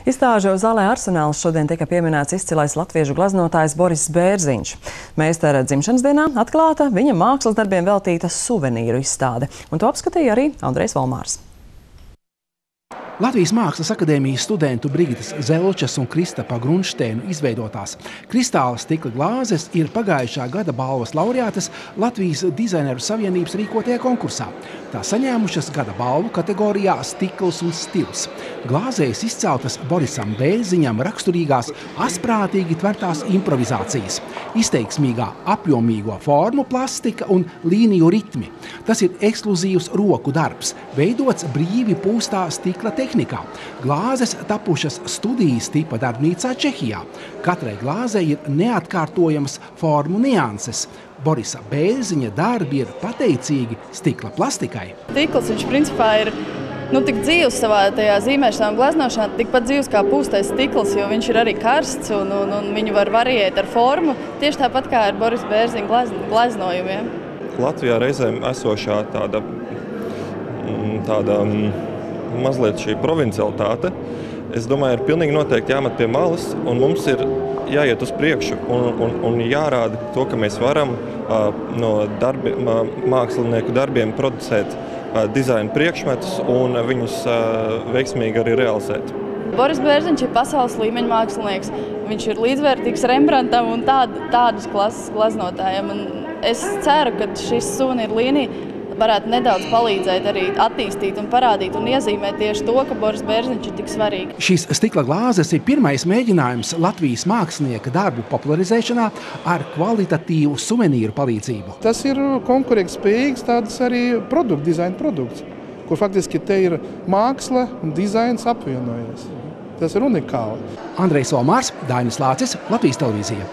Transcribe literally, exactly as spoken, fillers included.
Izstāžu zālē Arsenāls šodien tika pieminēts izcilais latviešu glaznotājs Boris Bērziņš. Meistara dzimšanas dienā atklāta viņa mākslas darbiem veltīta suvenīru izstāde, un to apskatīja arī Andrejs Volmārs. Latvijas Mākslas akadēmijas studentu Brigitas Zelčas un Kristapa Grunšteinu izveidotās kristāla stikla glāzes ir pagājušā gada balvas laureātes Latvijas Dizaineru savienības rīkotajā konkursā. Tā saņēmušas gada balvu kategorijā Stikls un stils. Glāzēs izceltas Borisam Bērziņam raksturīgās asprātīgi tvertās improvizācijas, izteiksmīgā apjomīgo formu plastika un līniju ritmi. Tas ir ekskluzīvs roku darbs, veidots brīvi pūstā stikla tehnikā. Glāzes tapušas studijas tipa darbnīcā Čehijā. Katrai glāzei ir neatkārtojamas formu nianses. Borisa Bērziņa darbi ir pateicīgi stikla plastikai. Stikls, viņš principā ir nu, tik dzīvs savā tajā zīmēšanā un gleznošanā, tikpat dzīvs kā pūstais stikls, jo viņš ir arī karsts un, un, un viņu var variēt ar formu, tieši tāpat kā ar Borisa Bērziņa glez, gleznojumiem. Latvijā reizēm esošā tāda, tāda mazliet šī provincialitāte, es domāju, ir pilnīgi noteikti jāmet pie malas, un mums ir jāiet uz priekšu un, un, un jārāda to, ka mēs varam uh, no darbi, mākslinieku darbiem producēt uh, dizaina priekšmetus un viņus uh, veiksmīgi arī realizēt. Boris Bērziņš ir pasaules līmeņa mākslinieks. Viņš ir līdzvērtīgs Rembrandtam un tād, tādas klases gleznotājiem. Un es ceru, ka šis suvenīru līnija varētu nedaudz palīdzēt arī attīstīt un parādīt un iezīmēt tieši to, ka Boris Bērziņš ir tik svarīgi. Šīs stikla glāzes ir pirmais mēģinājums Latvijas mākslinieka darbu popularizēšanā ar kvalitatīvu suvenīru palīdzību. Tas ir konkurētspējīgs tāds arī produktu, dizaina produkts, kur faktiski te ir māksla un dizains apvienojies. Tas ir unikāli. Andrejs Volmārs, Dainis Lācis, Latvijas televīzija.